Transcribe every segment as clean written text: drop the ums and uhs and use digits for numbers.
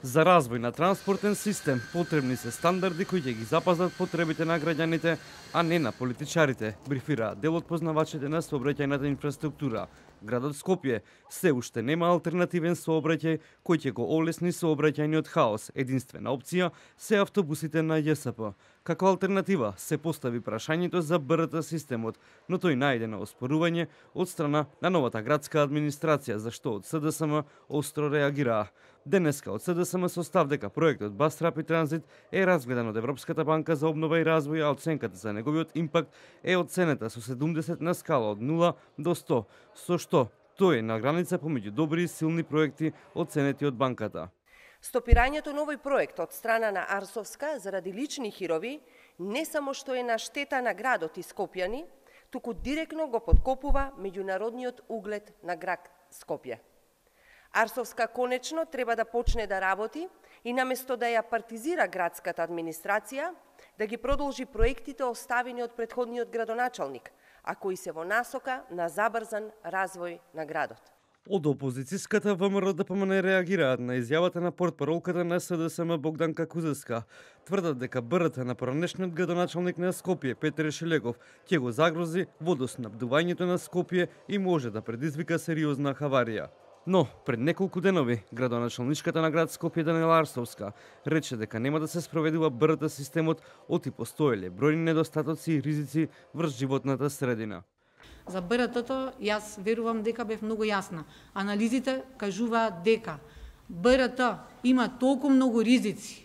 За развој на транспортен систем потребни се стандарди кои ќе ги запазат потребите на граѓаните, а не на политичарите, брифира дел од познавачите на сообраќајната инфраструктура. Градот Скопје се уште нема алтернативен сообраќај кој ќе го олесни сообраќајниот хаос. Единствена опција се автобусите на ЈСП. Како алтернатива се постави прашањето за БРТ системот, но тој најде на оспорување од страна на новата градска администрација, за што од СДСМ остро реагираа. Денеска од СДСМ со став дека проектот Bus Rapid Transit е разгледан од Европската банка за обнова и развој, а оценката за неговиот импакт е оценета со 70 на скала од 0 до 100, со што тој е на граница помеѓу добри и силни проекти оценети од банката. Стопирањето на овој проект од страна на Арсовска заради лични хирови не само што е на штета на градот и скопјани, туку директно го подкопува меѓународниот углед на град Скопје. Арсовска конечно треба да почне да работи и наместо да ја партизира градската администрација, да ги продолжи проектите оставени од претходниот градоначалник, а кои се во насока на забрзан развој на градот. Од опозицијската ВМРО ДПМН реагираат на изјавата на портпаролката на СДСМ Богданка Кузевска. Тврдат дека БРТ на поранешниот градоначалник на Скопје Петер Шелегов ќе го загрози водоснабдувањето на Скопје и може да предизвика сериозна хаварија. Но, пред неколку денови, градоначалничката на град Скопје Даниела Арсовска рече дека нема да се спроведува БРТ системот, оти постоеле бројни недостатоци и ризици врз животната средина. За БРТ-то јас верувам дека бев многу јасна. Анализите кажуваат дека БРТ има толку многу ризици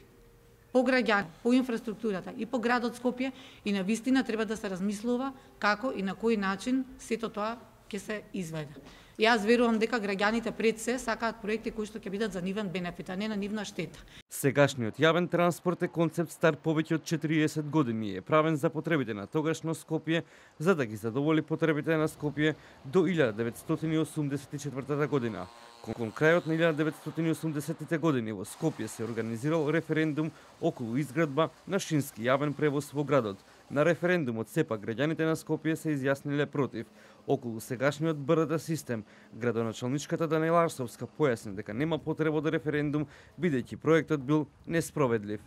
по граѓани, по инфраструктурата и по градот Скопје и навистина треба да се размислува како и на кој начин сето тоа ќе се изведе. Јас верувам дека граѓаните пред се сакаат проекти кои што ќе бидат за нивен бенефит, а не на нивна штета. Сегашниот јавен транспорт е концепт стар повеќе од 40 години и е правен за потребите на тогашно Скопје, за да ги задоволи потребите на Скопје до 1984 година. Кон крајот на 1980 години во Скопје се организирал референдум околу изградба на шински јавен превоз во градот. На референдумот сепак граѓаните на Скопје се изјасниле против. Околу сегашниот БРТ систем, градоначалничката Даниела Арсовска појасни дека нема потреба од референдум, бидејќи проектот бил неспроведлив.